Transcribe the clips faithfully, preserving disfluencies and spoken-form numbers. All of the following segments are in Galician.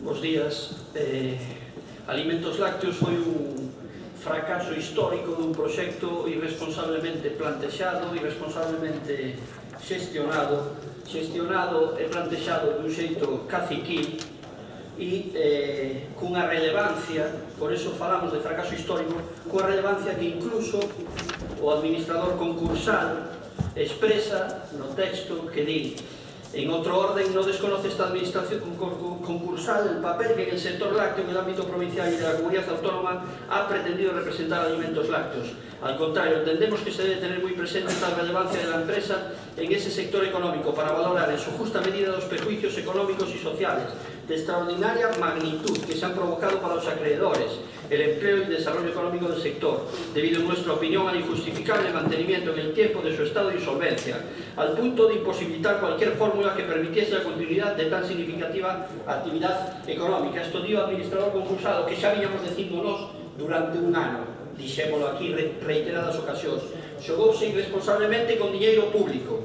Bos días. Eh, Alimentos Lácteos foi un fracaso histórico dun proxecto irresponsablemente plantexado, irresponsablemente xestionado, xestionado e plantexado dun xeito caciquil e eh, cunha relevancia, por eso falamos de fracaso histórico, cunha relevancia que incluso o administrador concursal expresa no texto que di: en otro orden, no desconoce esta administración concursal el papel que en el sector lácteo, en el ámbito provincial y de la comunidad autónoma ha pretendido representar Alimentos Lácteos. Al contrario, entendemos que se debe tener muy presente esta relevancia de la empresa en ese sector económico para valorar en su justa medida los perjuicios económicos y sociales de extraordinaria magnitud que se han provocado para los acreedores, el empleo y el desarrollo económico del sector, debido en nuestra opinión al injustificable mantenimiento en el tiempo de su estado de insolvencia, al punto de imposibilitar cualquier fórmula que permitiese la continuidad de tan significativa actividad económica. Esto dio o administrador concursado, que xa viñamos dicíndonos durante un ano, dixémolo aquí reiteradas ocasións. Xogouse irresponsablemente con diñeiro público.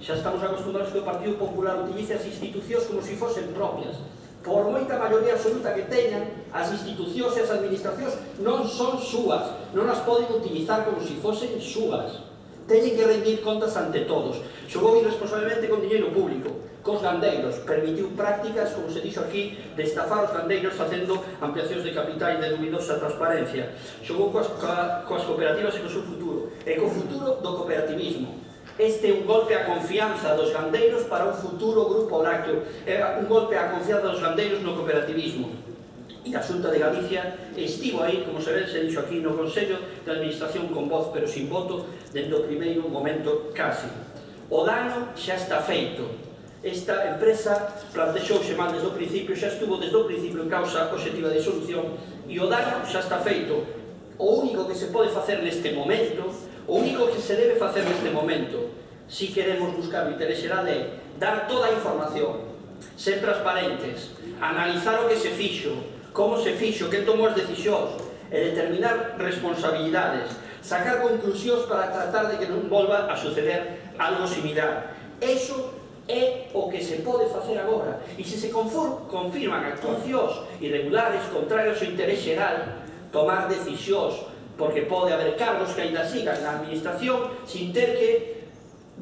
Xa estamos acostumbrados que o Partido Popular utilice as institucións como se fosen propias. Por moita maioría absoluta que teñan, as institucións e as administracións non son súas, non as poden utilizar como se fosen súas. Teñen que rendir contas ante todos. Xogou irresponsablemente con diñeiro público, cos gandeiros, permitiu prácticas, como se dixo aquí, de estafar os gandeiros facendo ampliacións de capital de dubidosa transparencia. Xogou coas, coas cooperativas e co seu futuro, e co futuro do cooperativismo. Este é un golpe á confianza dos gandeiros para un futuro grupo lácteo, é un golpe á confianza dos gandeiros no cooperativismo. E a Xunta de Galicia estivo aí, como se ven, se dixo aquí, no Consello de Administración con voz, pero sin voto, dende o primeiro momento casi. O dano xa está feito. Esta empresa plantexouse mal desde o principio, xa estuvo desde o principio en causa obxectiva de solución, e o dano xa está feito. O único que se pode facer neste momento, o único que se debe facer neste momento, si queremos buscar o interés xeral, é dar toda a información, ser transparentes, analizar o que se fixo, como se fixo, quen tomou as decisións, e determinar responsabilidades, sacar conclusións para tratar de que non volva a suceder algo similar. Eso é o que se pode facer agora. E se se confirman actuacións irregulares, contrarios ao interés xeral, tomar decisións, porque pode haber cargos que ainda sigan na administración sin ter que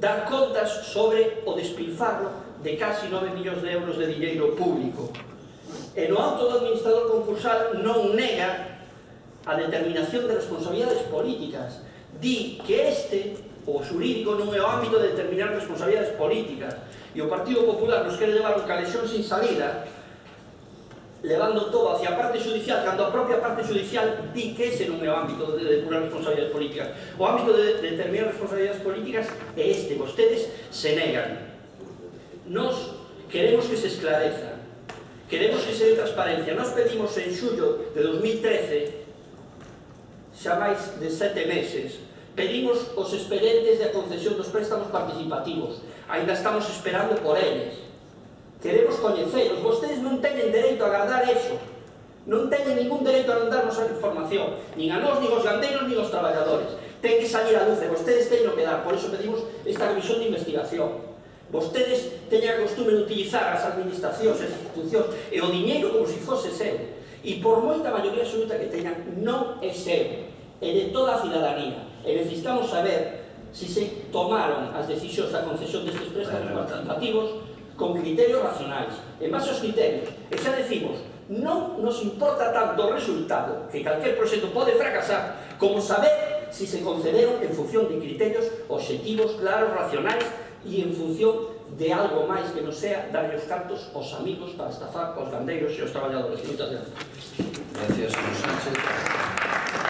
dar contas sobre o despilfarro de casi nove millóns de euros de diñeiro público. E no auto do administrador concursal non nega a determinación de responsabilidades políticas. Di que este, o xurídico, non é o ámbito de determinar responsabilidades políticas. E o Partido Popular nos quere levar un calexón sin salida, levando todo hacia a parte judicial, cando a propia parte judicial di que ese non é o ámbito de depurar responsabilidades políticas. O ámbito de determinar responsabilidades políticas é este, vostedes se negan. Nos queremos que se esclareza, queremos que se dé transparencia. Nos pedimos en xullo de dos mil trece, xa máis de sete meses, pedimos os expedientes de concesión dos préstamos participativos. Ainda estamos esperando por eles. Queremos coñeceros. Vostedes non teñen dereito a guardar eso. Non teñen ningún dereito a non darnos a información. Nin a nós, nin aos gandeiros, nin aos traballadores. Ten que salir a luz e vostedes teñen que dar. Por iso pedimos esta comisión de investigación. Vostedes teñen a costume de utilizar as administracións, as institucións e o diñeiro como se fose seu. E por moita maioría absoluta que teñan, non é seu. É de toda a cidadanía. E necesitamos saber se se tomaron as decisións da concesión destes préstamos participativos con criterios racionais, en base aos criterios. E xa decimos, non nos importa tanto o resultado, que calquer proxecto pode fracasar, como saber se se concederon en función de criterios obxectivos, claros, racionais, e en función de algo máis que non sea darlle os cartos aos amigos para estafar aos gandeiros e aos traballadores. Moitas gracias. Gracias, señor Sánchez.